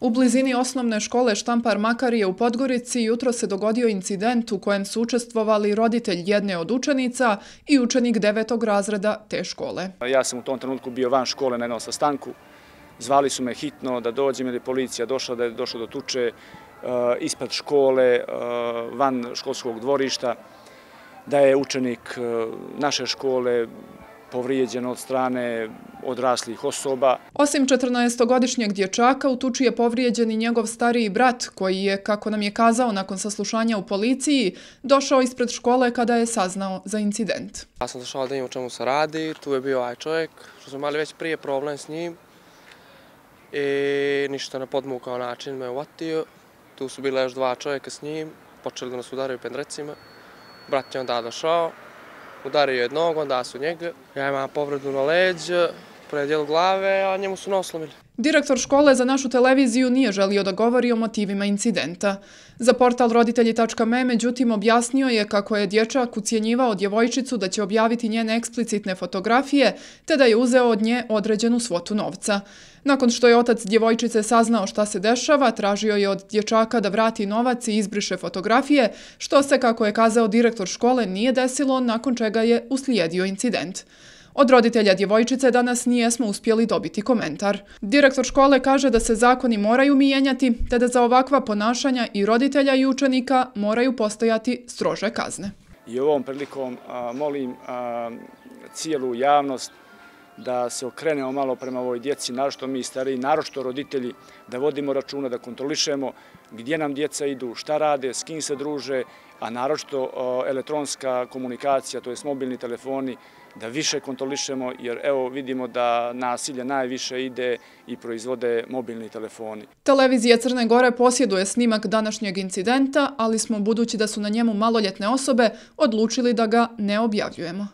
U blizini osnovne škole Štampar Makarije u Podgorici jutro se dogodio incident u kojem su učestvovali roditelj jedne od učenica i učenik 9. razreda te škole. Ja sam u tom trenutku bio van škole na jednom sastanku. Zvali su me hitno da dođem jer je policija došla, da je došlo do tuče ispred škole, van školskog dvorišta, da je učenik naše škole povrijeđen od strane odraslih osoba. Osim 14-godišnjeg dječaka, u tuči je povrijeđen i njegov stariji brat, koji je, kako nam je kazao nakon saslušanja u policiji, došao ispred škole kada je saznao za incident. Ja sam došao da vidim o čemu se radi, tu je bio ovaj čovjek, što smo imali već prije problem s njim i ništa na podmukao način me uvatio. Tu su bile još dva čovjeka s njim, počeli da nas udaraju pendrecima. Brat je onda došao, udario jednog, onda su njega. Ja imam povredu na leđ, predjel glave, a njemu su nos slomili. Direktor škole za našu televiziju nije želio da govori o motivima incidenta. Za portal roditelji.me, međutim, objasnio je kako je dječak ucjenjivao djevojčicu da će objaviti njene eksplicitne fotografije, te da je uzeo od nje određenu svotu novca. Nakon što je otac djevojčice saznao šta se dešava, tražio je od dječaka da vrati novac i izbriše fotografije, što se, kako je kazao direktor škole, nije desilo, nakon čega je uslijedio incident. Od roditelja djevojčice danas nijesmo uspjeli dobiti komentar. Direktor škole kaže da se zakoni moraju mijenjati, te da za ovakva ponašanja i roditelja i učenika moraju postojati strože kazne. I ovom prilikom molim cijelu javnost da se okrenemo malo prema ovoj djeci, naročito mi stariji, naročito roditelji, da vodimo računa, da kontrolišemo gdje nam djeca idu, šta rade, s kim se druže, a naročito elektronska komunikacija, to jest mobilni telefoni, da više kontrolišemo, jer evo vidimo da nasilje najviše ide i proizvode mobilni telefoni. Televizija Crne Gore posjeduje snimak današnjeg incidenta, ali smo, budući da su na njemu maloljetne osobe, odlučili da ga ne objavljujemo.